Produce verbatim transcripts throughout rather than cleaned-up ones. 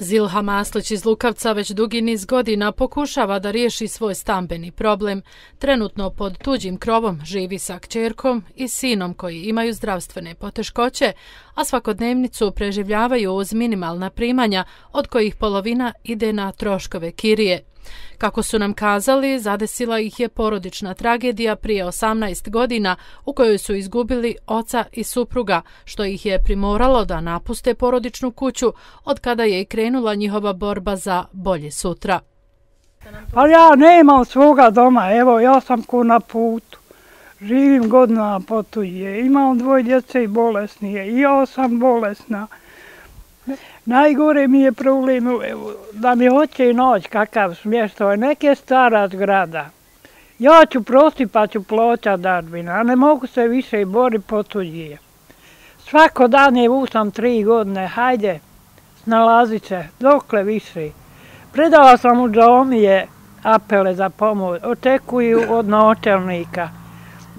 Zilha Maslić iz Lukavca već dugi niz godina pokušava da riješi svoj stambeni problem. Trenutno pod tuđim krovom živi sa kćerkom i sinom koji imaju zdravstvene poteškoće, a svakodnevnicu preživljavaju uz minimalna primanja, od kojih polovina ide na troškove kirije. Kako su nam kazali, zadesila ih je porodična tragedija prije osamnaest godina u kojoj su izgubili oca i supruga, što ih je primoralo da napuste porodičnu kuću, od kada je i krenula njihova borba za bolje sutra. Pa ja nemam svoga doma, evo ja sam ko na putu. Živim godinama po tuđe, imam dvoje djece i bolesni je, i ja sam bolesna. Najgore mi je problem evo, da mi hoće naći kakav smještaj, neke stara zgrada. Ja ću prosti pa ću plaćati dažbine, a ne mogu se više boriti po tuđe. Svako dan je usam tri godine, hajde, snalazit će, dokle više. Predala sam u džamije apele za pomoć, očekuju od načelnika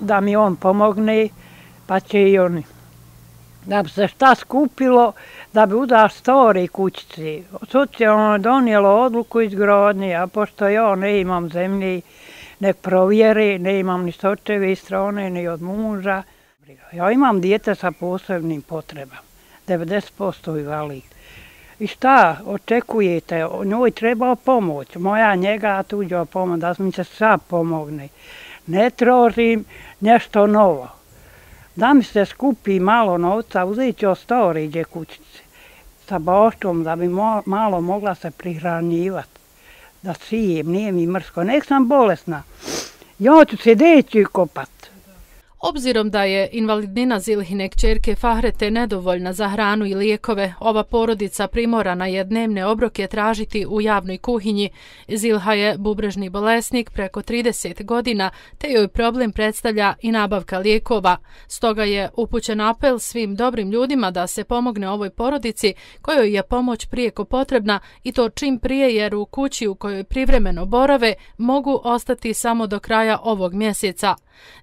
da mi on pomogne, pa će i oni. Da bi se šta skupilo, da bi udar stari kućici. Socijalno je donijelo odluku izgradnje, a pošto ja ne imam zemlji, nek provjeri, ne imam ni s očeve strane, ni od muža. Ja imam dijete sa posebnim potrebama, devedeset posto invalid. I šta očekujete? Njoj treba pomoć, moja njega, tuđa pomoć, da mi se sad pomogne. Ne tražim nešto novo. Da mi se skupi malo novca, uzet ću od stariđe kućice sa baštom, da bi malo mogla se prihranjivati. Da sijem, nije mi mrsko. Nek sam bolesna, ja ću se deći kopat. Obzirom da je invalidnina Zilhine kćerke Fahrete nedovoljna za hranu i lijekove, ova porodica primorana je dnevne obroke tražiti u javnoj kuhinji. Zilha je bubrežni bolesnik preko trideset godina, te joj problem predstavlja i nabavka lijekova. Stoga je upućen apel svim dobrim ljudima da se pomogne ovoj porodici kojoj je pomoć prijeko potrebna, i to čim prije, jer u kući u kojoj privremeno borave mogu ostati samo do kraja ovog mjeseca.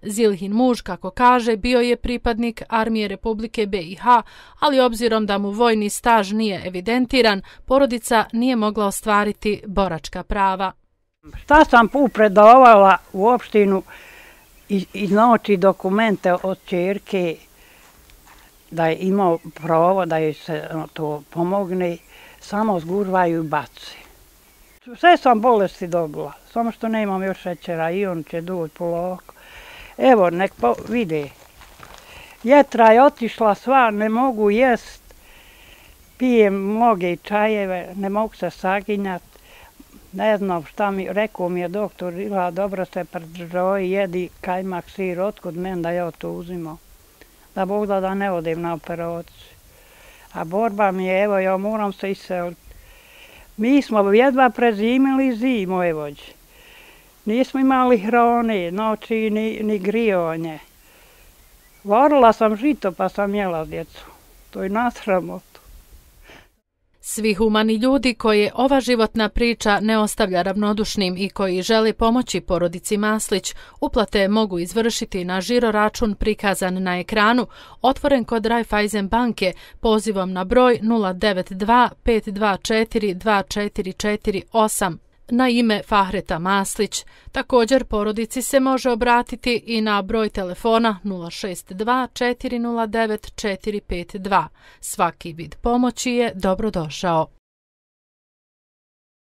Zilhin muž, kako kaže, bio je pripadnik Armije Republike B i H, ali obzirom da mu vojni staž nije evidentiran, porodica nije mogla ostvariti boračka prava. Šta sam predavala u opštinu i, i znači dokumente od ćerke da je imao pravo da joj se to pomogne, samo zgužvaju i baci. Sve sam bolesti dobila, samo što nemam još šećera i on će doći polako. Evo, nek vide. Jetra je otišla sva, ne mogu jest. Pijem mnoge čajeve, ne mogu se saginjati. Ne znam šta mi, rekao mi je doktor, Ila, dobro se pridržoj, jedi kajmak, sir, otkud meni da ja to uzimam. Da Bog da da ne odem na operaciju. A borba mi je, evo, ja moram se iseliti. Mi smo jedva prezimili zimu, evo. Nismo imali hrane, noći ni, ni grijanje. Varila sam žito pa sam jela djecu. To je nasramoto. Svi humani ljudi koje ova životna priča ne ostavlja ravnodušnim i koji žele pomoći porodici Maslić, uplate mogu izvršiti na žiro račun prikazan na ekranu, otvoren kod Raiffeisen banke, pozivom na broj nula devet dva pet dva četiri dva četiri četiri osam. Na ime Fahreta Maslić. Također porodici se može obratiti i na broj telefona nula šest dva četiri nula devet četiri pet dva. Svaki vid pomoći je dobrodošao.